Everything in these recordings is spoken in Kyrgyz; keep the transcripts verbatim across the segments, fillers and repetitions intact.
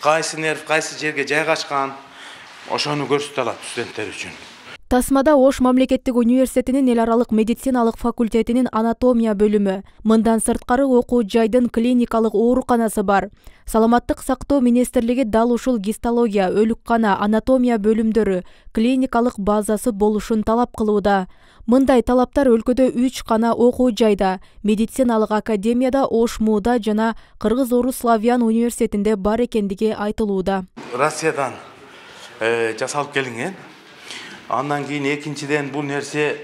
кайсы нерв кайсы жерге жайгашкан, ошону көрсөтө алат студенттер үчүн. Тасмада Ош мамлекеттик университетинин эл аралык медициналык факультетинин анатомия бөлүмү, мындан сырткары окуу жайдын клиникалык ооруканасы бар. Саламаттык сактоо министрлиги дал ушул гистология, өлүккана, анатомия бөлүмдөрү, клиникалык базасы болушун талап кылууда. Мындай талаптар өлкөдө үч гана окуу жайда, медициналык академияда, Ош МУда жана Кыргыз-Орус Славян университетинде бар экендиги айтылууда. Россиядан жасалып келинген. Андан кийин экинчиден бул нерсе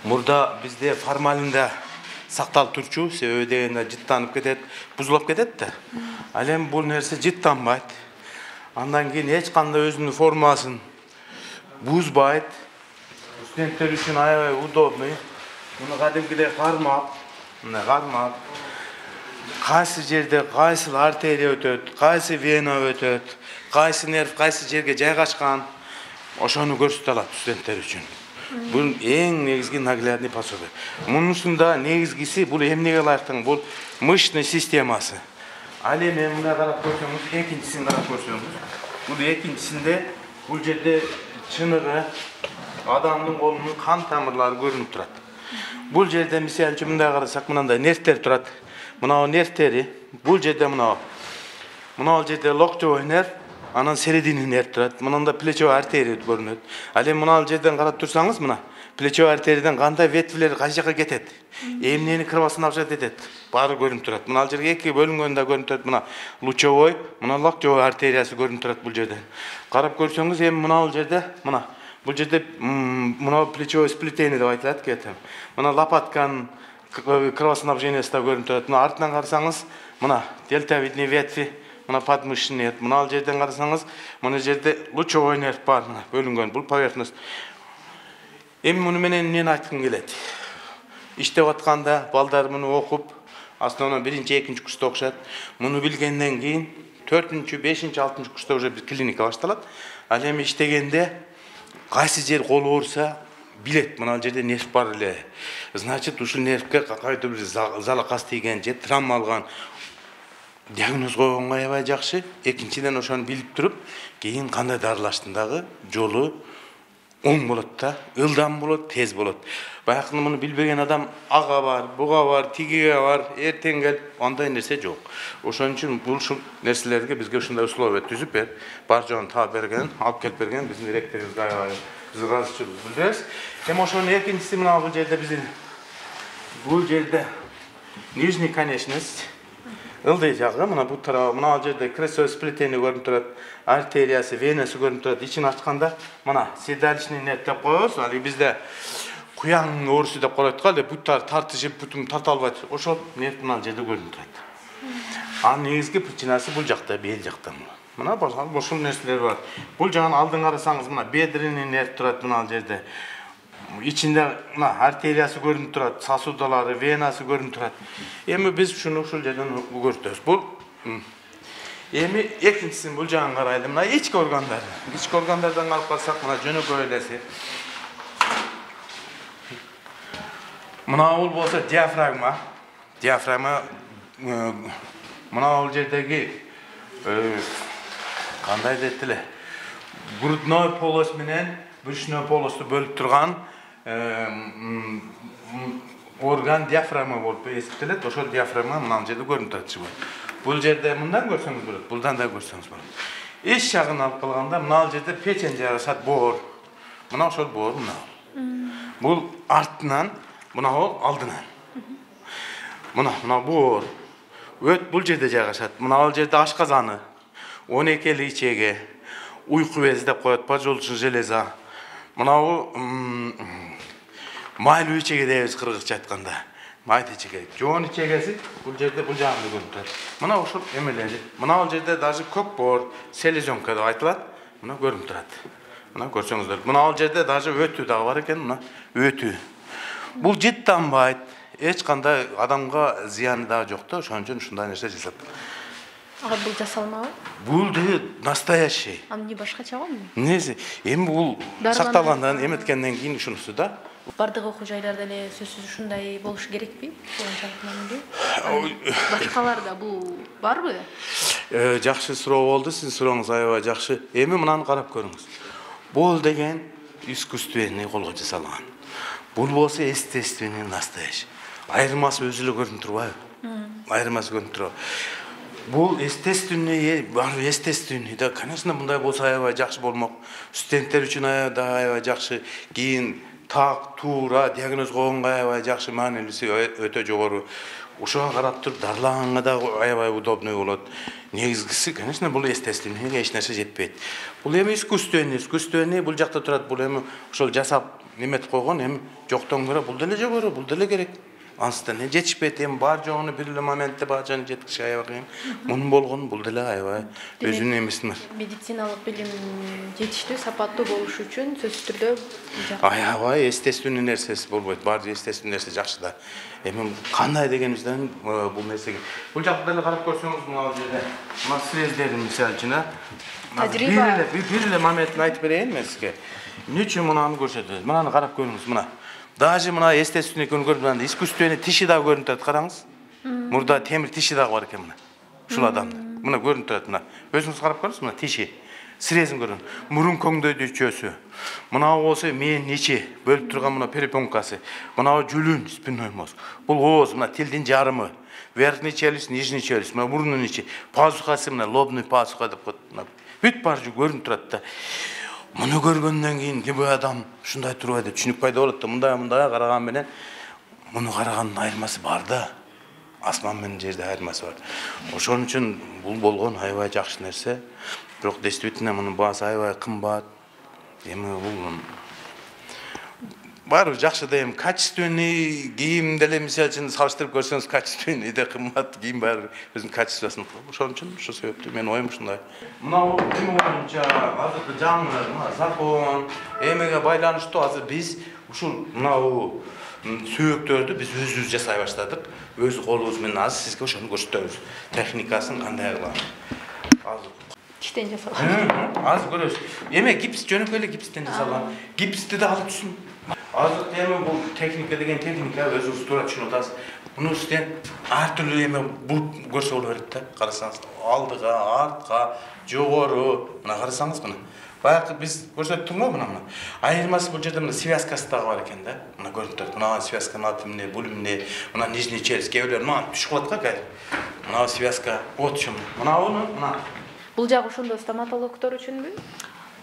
мурда бизде формалинде сакталып турчу, себеби дегенде жыттанып кетет, бузулуп кетет да. Ал эми бул нерсе жыттанбайт. Андан кийин эч кандай өзүнүн формасын бузбайт. Студенттер үчүн аябай удобный. Муну кадимкидей кармап, мына кармап, кайсы жерде кайсы артерия өтөт, кайсы вена өтөт, кайсы нерв кайсы жерге жайгашкан, ошону көрсөтө алат студенттер үчүн. Бул эң негизги наглядный пособие. Мунусунда негизгиси бул эмнеге ылайыктын, бул мышечный системасы. Ал эми мына карап көрсөңүз, экинчисин карап көрсөңүз, бул экинчисинде бул жерде чыныгы адамдын колунун кан тамырлары көрүнүп турат. Бул жерде мисалы үчүн мындай карасак, мындай нервтер турат. Мына нервтери, бул жерде мына мына жерде локтевой нерв, анан серединный нерв турат. Мында плечевой артерия көрүнөт. Ал эми мына жерден карап турсаңыз, мына плечевой артериядан кандай ветвилер кайсы жака кетет, эмнени кровоснабжать этет, баары көрүнүп турат. Мына жерге эки бөлүнгөнү да көрүнүп турат. Мына лучевой, мына локтевой артериясы көрүнүп турат бул жерде. Карап көрсөңүз, эми мына бул жерде, мына бул жерде мына плечевой сплетение деп айтылат кетем. Мына лопатканын кровоснабжениясы да көрүнүп турат. Мына артынан карасаңыз, мына дельтовидный ветви, мына подмышечный нерв. Мына жерден карасаңыз, мына жерде лучевой нерв бар, мына бөлүнгөн, бул поверхность. Эми муну менен эмнени айткым келет? Иштеп атканда балдар муну окуп, основном биринчи, экинчи курста окушат. Муну билгенден кийин төртүнчү, бешинчи, алтынчы курста уже клиника башталат. Ал эми иштегенде кайсы жер кол ооруса билет, мына жерде нерв бар эле. Значит, ушул нервге кайсы бир залакас тийген же травма алган. Диагноз койгонго аябай жакшы. Экинчиден ошону билип туруп, кийин кандай дарылаштын дагы жолу оң болот да, ылдам болот, тез болот. Баягы муну билбеген адам ага бар, буга бар, тигиге бар, эртең кел, андай нерсе жок. Ошон үчүн бул ушул нерселерге бизге ушундай условия түзүп берип, бар жоон таап берген, алып келип берген биздин ректорубузга аябай биз ыраазычылык билдиребиз. Эми ошонун экинчиси мына бул жерде биздин бул жерде нижний конечность, ылдый жагы, мына бул тарабы, мына жерде крестовое сплетение көрүнүп турат, артериясы, венасы көрүнүп турат. Ичин ачканда мына седалищный нерв деп коебуз. Али бизде куяңдын оорусу деп коет го, буттар тартышып, бутум тарта албайт. Ошол нерв мына жерде көрүнүп турат. Анын негизги причинасы бул жакта, бел жакта. Мына ошол нерселер бар. Бул жагын алдын карасаңыз, мына бедренный нерв турат мына жерде. Ичинде мына артериясы көрүнүп турат, сосудалары, венасы көрүнүп турат. Эми биз ушуну ушул жерден көрсөтөбүз. Бул эми экинчисин бул жагын карайлы. Мына ички органдар. Ички органдардан карап карасак, мына жөнөкөй элеси. Мына бул болсо диафрагма. Диафрагма мына бул жердеги кандай дейт эле? Грудной полость менен брюшной полосту бөлүп турган орган диафрагма болуп эсептелет. Ошол диафрагма мына жерде көрүнүп турат. Бул жерде мындан көрсөңүз болот, булдан да көрсөңүз болот. Эч жагын алып калганда мына жерде печень жайгашат, боор. Мына ошол боор мына. Бул артынан, мына ол алдынан. Мына мына боор. Өт бул жерде жайгашат. Мына ал жерде ашказаны, он экили ичеги, уйку бези деп коет, поджелудочная железа. Мына бул майлуу ичеги дейбиз кыргызча айтканда. Майда ичеги. Жоон ичегеси бул жерде бул жагында көрүнүп турат. Мына ошол эмелери. Мына бул жерде даже көк боор, селезенка деп айтылат. Мына көрүнүп турат. Мына көрсөңүздөр. Мына бул жерде даже өтүү дагы бар экен, мына өтүү. Бул жыттанбайт. Эч кандай адамга зыяны дагы жок да, ошон үчүн ушундай нерсе жасап. Ага бул жасалмабы? Бул де настоящий. А эмне башкача го? Эмнеси? Эми бул сакталгандан, эметкенден кийин ушунусу да. Бардык окуу жайларда эле сөзсүз ушундай болуш керекпи? Башкаларда бул барбы? Жакшы суроо болду, сиздин сурооңуз аябай жакшы. Эми мынаны карап көрүңүз. Бул деген искусственный колго жасалган. Бул болсо естественный настоящий. Айырмасы өзү эле көрүнүп турбайбы? Айырмасы көрүнүп турабы? Бул естественный, бар естественный да, конечно, мындай болсо аябай жакшы болмок. Студенттер үчүн аябай жакшы, кийин так, туура диагноз койгонго аябай жакшы, маанилиси өтө жогору. Ушуга карап туруп дарылаганга да аябай удобный болот. Негизгиси, конечно, бул естественный, эч нерсе жетпейт. Бул эми искусственный, искусственный бул жакта турат, бул эми ошол жасап неметип койгон, эми жоктон көрө бул деле жогору, бул деле керек. Анстан не жетишпейт, эми бар жогуну бир эле моментте бажаны жеткизиш аябай кыйын. Мунун болгону бул деле аябай өзүнүн эмеси бар. Медициналык билим жетиштүү, сапаттуу болуш үчүн сөзсүз түрдө аябай естественный нерсеси болбойт. Бар естественный нерсе жакшы да. Эми кандай дегенибизден бул нерсеге. Бул жакта деле карап көрсөңүз, мына жерде мына срезleri мисалы үчүн, тажрыйба бир эле моментин айтып берейин мен сизге. Эмне үчүн мунаны көрсөтөт? Мынаны карап көрүңүз, мына. Даже мына естественный көрүнгөн искусственный тиши да көрүнүп турат, караңыз. Мурда темир тиши да бар экен мына. Ушул адамда. Мына көрүнүп турат мына. Өзүңүз карап көрүңүз, мына тиши. Срезин көрүн. Мурун көңдөйдүчөсү. Мына болсо мээни ичи бөлүп турган мына перепонкасы. Мына жүлүн, спинной мозг. Бул ооз, мына тилдин жарымы. Верхний челюсть, нижний челюсть, мына мурунун ичи. Пазухасы мына лобный пазуха деп коет. Бүт бар жөө көрүнүп турат да. Муну көргөндөн кийин ким адам ушундай турбайт деп түшүнүк пайда болот да. Мындай мындай караган менен муну караганын айырмасы бар да. Асман менен жерде айырмасы бар. Ошон үчүн бул болгон аябай жакшы нерсе. Бирок действительно мунун баасы аябай кымбат. Эми бул баары жакшы да, эми качественный кийим деле мисалы үчүн салыштырып көрсөңүз, качественный да кымбат кийим баары өзүнүн качествосын. Ошон үчүн ошол себептүү менин оюм ушундай. Мына эми боюнча азыркы жаңы закон эмеге байланыштуу азыр биз ушул мына сөөктөрдү биз өзүбүз жасай баштадык. Өз колубуз менен азыр сизге ошону көрсөтөбүз. Техникасын кандай кылам. Азыр иштен жасалган. Азыр көрөсүз. Эме гипс жөнөкөй эле гипстен жасалган. Гипсти да алып түшүн. Азыр эми бул техника деген техника өзүңүз туура түшүнүп атасыз. Муну үстүн ар түрдүү эме бул көрсө боло берет да. Карасаңыз, алдыга, артка, жогору, мына карасаңыз мына. Баягы биз көрсөттүкмү мына мына. Айырмасы бул жерде мына связкасы дагы бар экен да. Мына көрүнүп турат. Мына связканын аты эмне, бул эмне, мына нижний челюсть, кээ бирлер мына түшүп калат го. Мына связка, вот чым. Мына уну, мына. Бул жагы ошондо стоматологдор үчүнбү?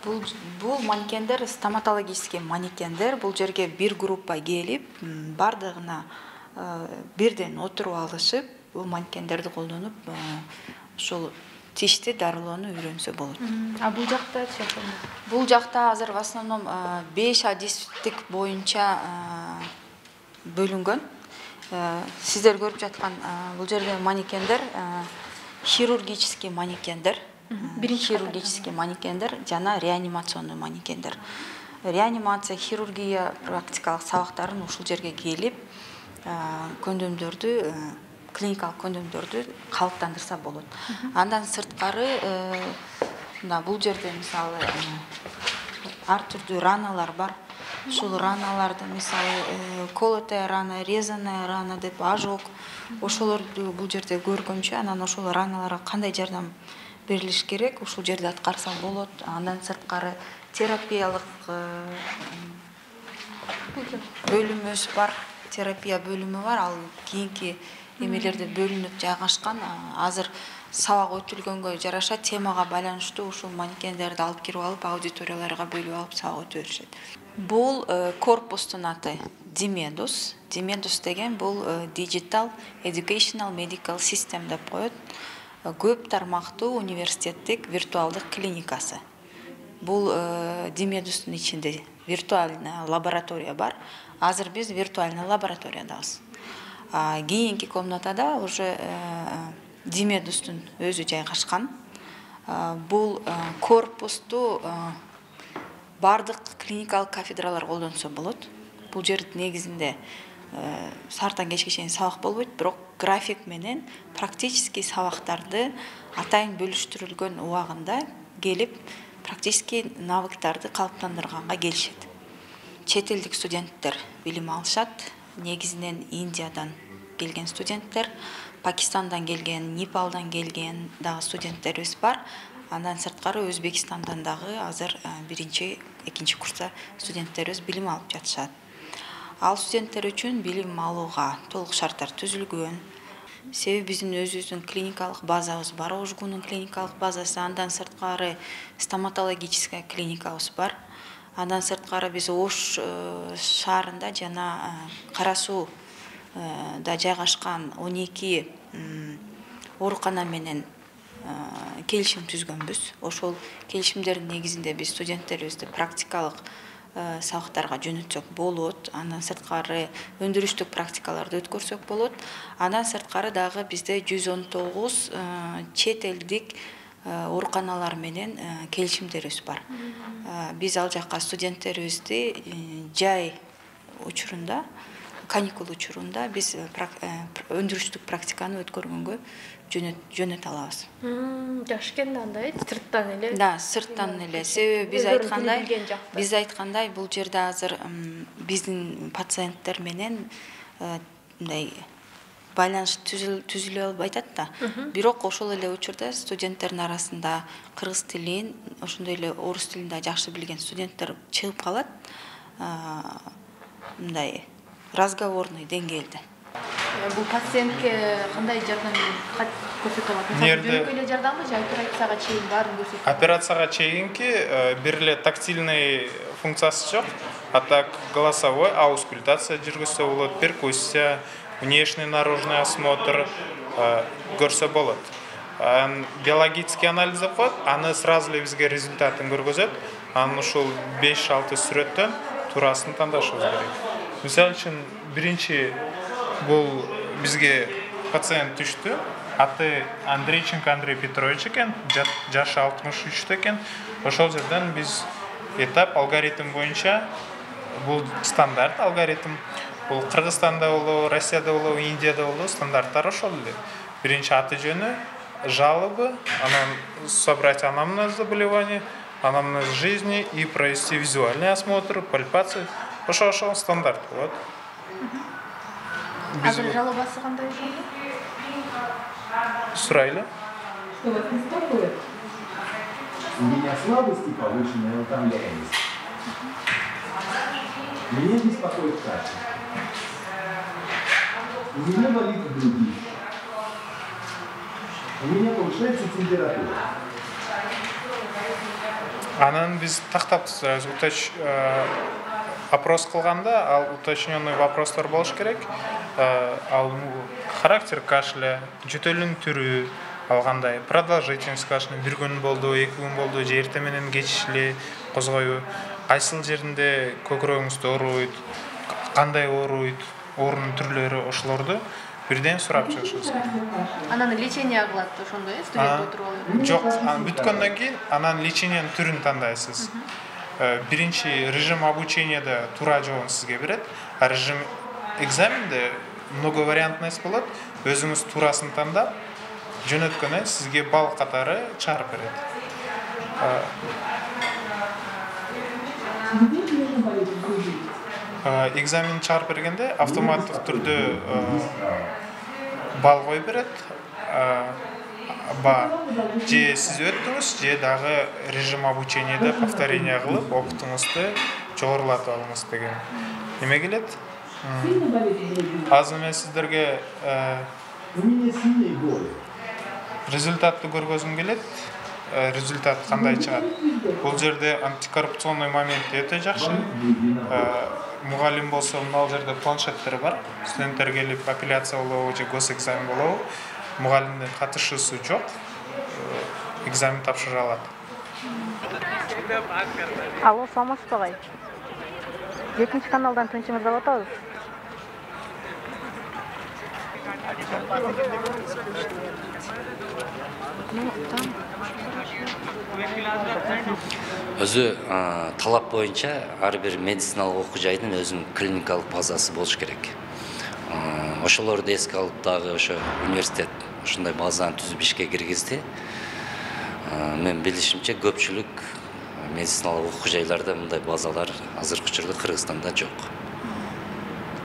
Бул бул манекендер стоматологический манекендер. Бул жерге бир группа келип, бардыгына бирден отуруп алышып, бул манекендерди колдонуп, ошол тишти дарылоону үйрөнсө болот. А бул жактачы? Бул жакта азыр в основном беш адистик боюнча бөлүнгөн. Сиздер көрүп жаткан бул жерде манекендер хирургический манекендер. Хирургический манекендер жана реанимационный манекендер. Реанимация, хирургия практикалык сабактарын ушул жерге келип, көндөмдөрдү, клиникалык көндөмдөрдү калыптандырса болот. Андан сырткары мына бул жерде мисалы ар түрдүү раналар бар. Ушул раналарды мисалы колотая рана, резаная рана деп ожог, ошолорду бул жерде көргөнчө, анан ошол раналарга кандай жардам берилиш керек, ушул жерде аткарса болот. Андан сырткары терапиялык бөлүмүбүз бар, терапия бөлүмү бар. Ал кийинки эмелерде бөлүнүп жайгашкан. Азыр сабак өтүлгөнгө жараша темага байланыштуу ушул манекендерди алып кирип алып, аудиторияларга бөлүп алып сабак өтүп беришет. Бул корпустун аты Dimedus. Dimedus деген бул Digital Educational Medical System деп коет. Көп тармактуу университеттик виртуалдык клиникасы. Бул Dimedustун ичинде виртуальная лаборатория бар. Азыр биз виртуальный лабораториядабыз. Кийинки комнатада уже Dimedustун өзү жайгашкан. Бул корпусту бардык клиникалык кафедралар колдонсо болот. Бул жер негизинде сартан кечке чейин сабак болбойт, бирок график менен практический сабактарды атайын бөлүштүрүлгөн убагында келип практический навыктарды калыптандырганга келишет. Чет элдик студенттер билим алышат, негизинен Индиядан келген студенттер, Пакистандан келген, Непалдан келген дагы студенттерибиз бар. Андан сырткары Өзбекстандан дагы азыр биринчи, экинчи курста студенттерибиз билим алып жатышат. Ал студенттер үчүн билим алууга толук шарттар түзүлгөн. Себеби биздин өзүбүздүн клиникалык базабыз бар, Ожгунун клиникалык базасы, андан сырткары стоматологическая клиникабыз бар. Андан сырткары биз Ош шаарында жана Кара Сууда жайгашкан он эки оорукана менен келишим түзгөнбүз. Ошол келишимдердин негизинде биз студенттерибизди практикалык сабактарга жөнөтсөк болот. Андан сырткары өндүрүштүк практикаларды өткөрсөк болот. Андан сырткары дагы бизде жүз он тогуз чет элдик ооруканалар менен келишимдерибиз бар. Биз ал жакка студенттерибизди жай учурунда, каникул учурунда биз өндүрүштүк практиканы өткөргөнгө жөнөтө алабыз. Жакшы экен андай, сырттан эле. Да, сырттан эле. Себеби биз айткандай, биз айткандай бул жерде азыр биздин пациенттер менен мындай байланыш түзүлө албай атат да. Бирок ошол эле учурда студенттердин арасында кыргыз тилин, ошондой эле орус тилин да жакшы билген студенттер чыгып калат. Мындай разговорный деңгээлде. Бул пациентке кандай жардам көрсөтө алат? Жөнөкөй эле жардамбы же операцияга чейин баарын көрсөтөт? Операцияга чейинки бир эле тактильный функциясы жок. А так голосовой аускультация жүргүзсө болот, перкуссия, внешний наружный осмотр көрсө болот. Биологический анализ деп коет, аны сразу эле бизге результатын көргөзөт. Анын ушул беш алты сүрөттөн туурасын тандашыбыз керек. Мисалы үчүн биринчи бул бизге пациент түштү. Аты Андрейченко Андрей Петрович экен, жашы алтымыш үчтө экен. Ошол жерден биз этап алгоритм боюнча, бул стандарт алгоритм. Бул Кыргызстанда болобу, Россияда болобу, Индияда болобу стандарттар ошол эле. Биринчи аты жөнү, жалобы, анан собрать анамнез заболевания, анамнез жизни и провести визуальный осмотр, пальпация. Ошол-ошол стандарт болот. Азыр жалобасы кандай ошондо? Сурайлы. Что вас беспокоит? У меня слабость и повышенная утомляемость. Меня беспокоит кашель. У меня болит грудь. У меня повышается температура. Анан биз тактап уточ опрос кылганда, ал уточненный вопростор болуш керек. Ал характер кашля, жөтөлүн түрү, ал кандай, продолжительность кашля, бир күн болду, эки күн болду, же эртең менен кеч эле козгойбу, кайсыл жеринде көкүрөгүңүздү ооруйт, кандай ооруйт, оорунун түрлөрү, ошолорду бирден сурап чыгышыбыз керек. Анан лечение кылат ошондой, э, студент отуруп алып. Жок, бүткөндөн кийин анан лечениянын түрүн тандайсыз. Биринчи режим обученияда туура жообун сизге берет, а режим экзаменде многовариантность болот. Өзүңүз туурасын тандап, жөнөткөндөн сизге балл катары чыгарып берет. Экзамен чыгарып бергенде автоматтык түрдө балл коюп берет. Ба же сиз өттүңүз, же дагы режим обученияда повторение кылып, опытыңызды жогорулатып алыңыз деген неме келет. Азыр мен сиздерге результатты көргөзүм келет. Результат кандай чыгат? Бул жерде антикоррупционный момент өтө жакшы. Мугалим болсо, мына жерде планшеттер бар. Студенттер келип апелляция болобу же госэкзамен болобу, мугалимдин катышуусу жок. Экзамен тапшыра алат. Алло, саламатсызбы агай? Экинчи каналдан тынчыңызды алып атабыз. Өзү талап боюнча ар бир медициналык окуу жайдын өзүнүн клиникалык базасы болуш керек. Ошолорду эске алып дагы ошо университет ушундай базаны түзүп ишке киргизди. Мен билишимче көпчүлүк медициналык окуу жайларда мындай базалар азыркы учурда Кыргызстанда жок.